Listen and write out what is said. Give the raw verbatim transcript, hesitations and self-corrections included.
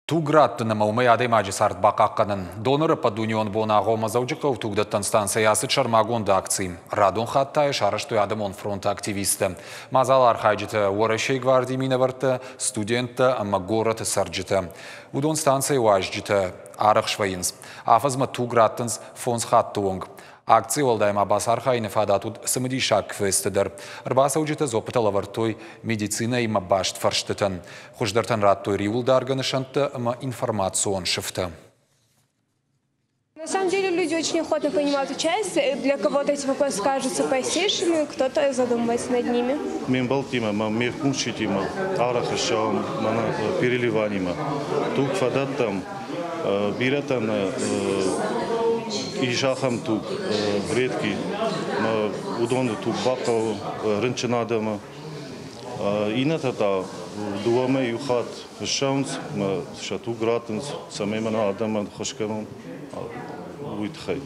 Туг раттын ӕмӕ уымӕй адӕймаджы цард бахъахъхъӕнын. Доноры ӕппӕтдунеон боны агъоммӕ Дзӕуджыхъӕуы тугдӕттӕн станцӕйы ацыд сӕрмагонд акци. Радон хатт та йӕ сарӕзтой адӕмон фронты активисттӕ. Мадзалы архайджытӕ Уӕрӕсейы гвардийы минӕвӕрттӕ, студенттӕ ӕмӕ горӕты цӕрджытӕ. Уыдон станцӕйы уазджытӕ арӕх свӕййынц. Афӕдзмӕ туг раттынц фондз хатты онг. Акцийы уӕлдай ма бацархайыны фадат уыд цымыдисаг квесты дӕр. Ӕрбацӕуджытӕ дзуаппытӕ лӕвӕрдтой медицинӕимӕ баст фӕрстытӕн. Хуыздӕртӕн радтой риуылдаргӕ нысӕнттӕ ӕмӕ информацион сыфтӕ. На самом деле люди очень охотно принимают участие. Для кого-то эти вопросы кажутся простейшими, кто-то задумывается над ними. Ме мбӕлттимӕ ӕмӕ ме мкусджытимӕ арӕх ссӕуӕм мӕнӕ переливаниемӕ. Туг фӕдӕттӕм, бирӕтӕн ис ахӕм туг редкий, уыдоны туг бахъӕуы рынчын адӕмы. Иннӕтӕ та дыууӕ мӕй иу хатт ссӕуынц ӕмӕ сӕ туг раттынц, цӕмӕй мӕнӕ адӕмӕн ӕххуыс кӕнон, уый тыххӕй.